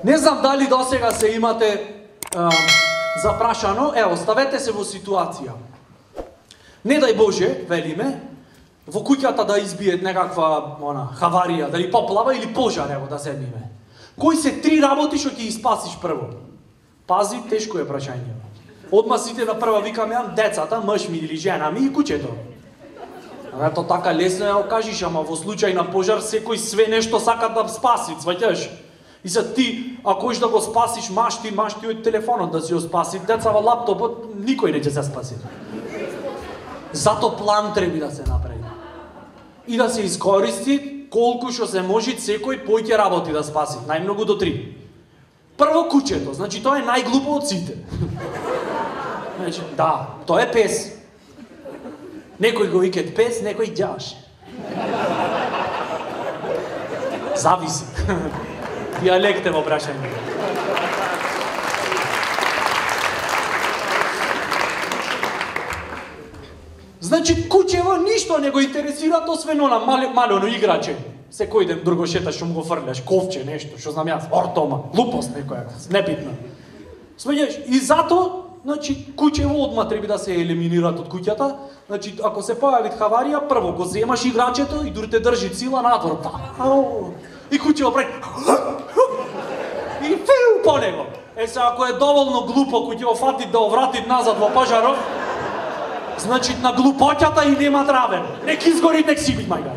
Не знам дали досега се имате запрашано, оставете се во ситуација. Не дај Боже, велиме, во куќата да избие некаква хаварија, дали поплава или пожар, да седниме. Кои се 3 работи што ќе испасиш прво? Пази, тешко е прашање. Одма сите на прва викаме, децата, мъж ми или жена ми и куќето. Ето така лесно ја окажиш, ама во случај на пожар секој све нешто сака да спаси, сваќаш? И за ти, ако хоиш да го спасиш, машти од телефонот да си го спаси, деца во лаптопот, никој не ќе се спаси. Зато план треба да се направи. И да се искористи колку што се може секој поќе работи да спаси, најмногу до 3. Прво куќето, значи тоа е најглупо од сите. Значи, да, тоа е пес. Некој го викат пес, некој ѓаш. Зависи. Диалект е во прашање. Значи, куќево ништо не го интересира, освен она малено играче. Секој ден друго шеташ, што му го фрляш, ковче, нешто, што знам јас, ортома, глупост некоја, небитна. Смеѓаш, и зато, значи, куќево одма треба да се елиминират од куќата. Значи, ако се појави хаварија, прво го земаш играчето и дури те држи сила надвор. И куќево прави и фиу по него. Се, ако е доволно глупо, куќево фати да оврати назад во пожаров, значи на глупоќата и нема травен. Нек изгори, нек си бит мајга.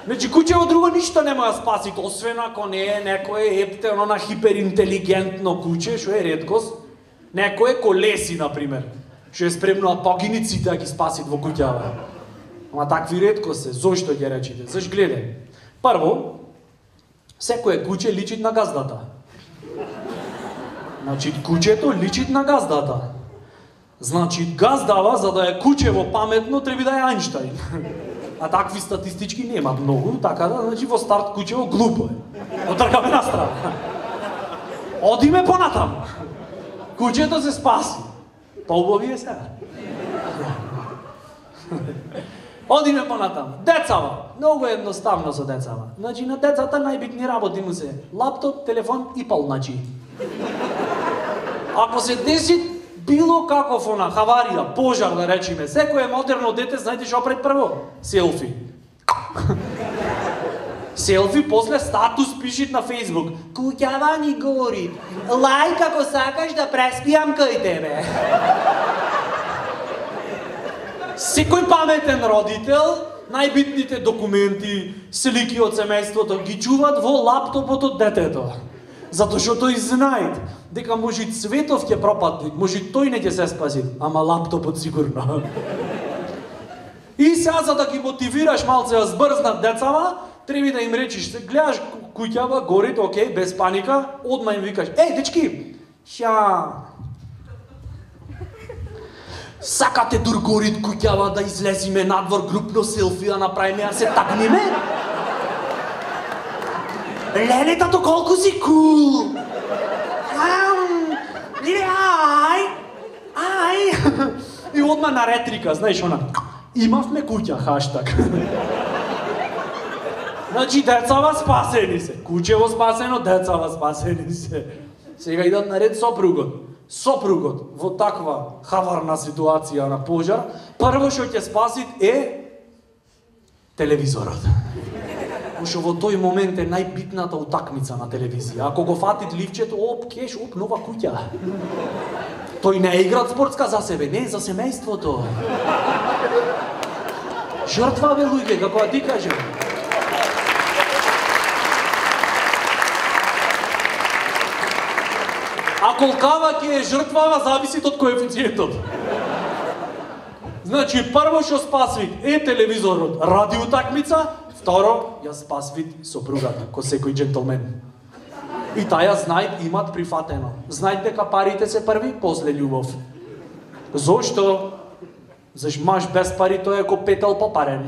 Значи, куќево друго ништо не може да спаси, освен ако не е некој ептено на хиперинтелигентно куќе, што е реткост. Некој колеси, например, што е спремно да погини сите да ги спаси во куќава. Ама такви реткост се, зошто ќе речите? Заш гледај. Прво, секое куќе личи на газдата. Значи, куќето личи на газдата. Значи, газдава, за да е куќево паметно, треба да е Ајнштајн. А такви статистички нема многу, така да, значи, во старт куќево глупо е. Отркаме на страна. Одиме понатаму. Куќето се спаси. Поубави е сега. Одиме понатаму. Децава. Многу едноставно со децава. Значи, на децата најбитни работи му се лаптоп, телефон и полначи. Ако се деси било каков хаварија, пожар да речиме, секој модерно дете, знаете што пред прво? Селфи. Селфи, после статус пишит на Фейсбук. Куќава ни гори. Лајк ако сакаш да преспијам кај тебе. Секој паметен родител, најбитните документи, слики од семејството ги чуваат во лаптопот од детето. Затоа што тој знаат дека може Цветов ќе пропадне, може тој не ќе се спаси, ама лаптопот сигурно. И сега за да ги мотивираш малце да збрзнат децава, треба да им речиш, гледаш куќава, горит, окей, без паника, одма им викаш, дечки, сакате дур горит куќава да излезиме надвор групно селфи да направиме, а се такнеме? Ленетато колку си кул! Ај! И одма на ретрика, знаеш она, имавме куќа, хаштаг. Значи, децава спасени се. Куќево спасено, децава спасени се. Сега идат наред сопругот. Сопругот во таква хаварна ситуација на пожар, прво што ќе спасит е телевизорот. Пошто во тој момент е најбитната утакмица на телевизија. Ако го фатит ливчето, кеш, нова куќа. Тој не е играат спортска за себе, не, за семејството. Жртва бе луѓе, како да ти кажем. А колкава ќе е жртвава, зависи од коефициентот. Значи, прво што спасвит е телевизорот, ради утакмица, второ, ја спасвит сопругата, ко секој джентлмен. И таја знајт имат прифатено. Знајт дека парите се први, после љубов. Зошто? Заш маж без пари тој е ко петел попарен.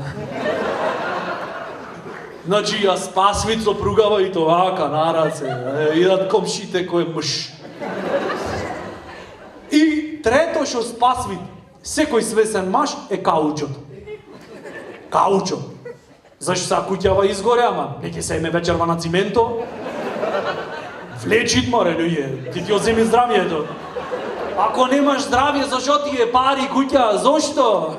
Значи, ја спасвит сопругава и тоа на раце. Идат комшите кој е мъж. И трето што спасвит секој свесен маж е каучот. Каучот. Зашто са куќава изгоре, ама не ќе се име вечерва на цименто? Влечит море, луѓе, ти оземи здравието. Ако немаш здравје, зашо ти е пари куќа? Зошто?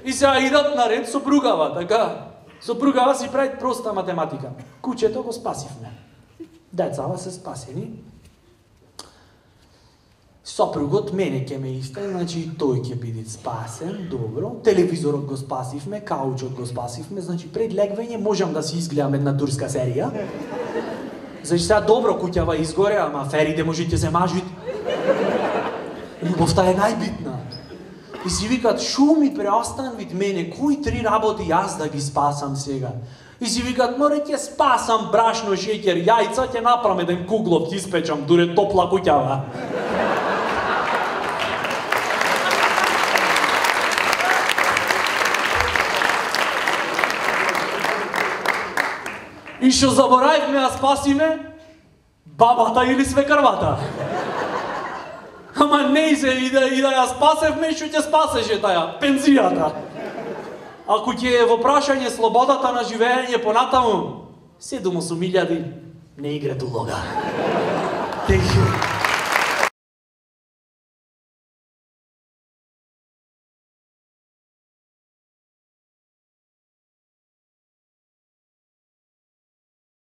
И сега идат наред сопругава, така? Сопругава си прави проста математика. Куќето го спасивме. Децава се спасени. Сопругот мене ќе ме исте, значи тој ќе биде спасен, добро. Телевизорот го спасивме, каучот го спасивме, значи пред легвење можам да си изгледам една турска серија. Значи сега добро куќава изгоре, ама аферите можете се мажит. Љубовта е најбитна. И си викат, шо ми преостан вид мене, кои 3 работи јас да ги спасам сега? И си викат, море ќе спасам брашно, шеќер, јајца, ќе направам еден куглов, ќе испечам, дуре топла куќава. И што заборавивме да спасиме? Бабата или свекрвата. Ама не се и да ја спасевме, што ќе спасеше таја? Пензијата. Ако ќе е во прашање слободата на живење понатаму, 7-8 илјади не играт улога.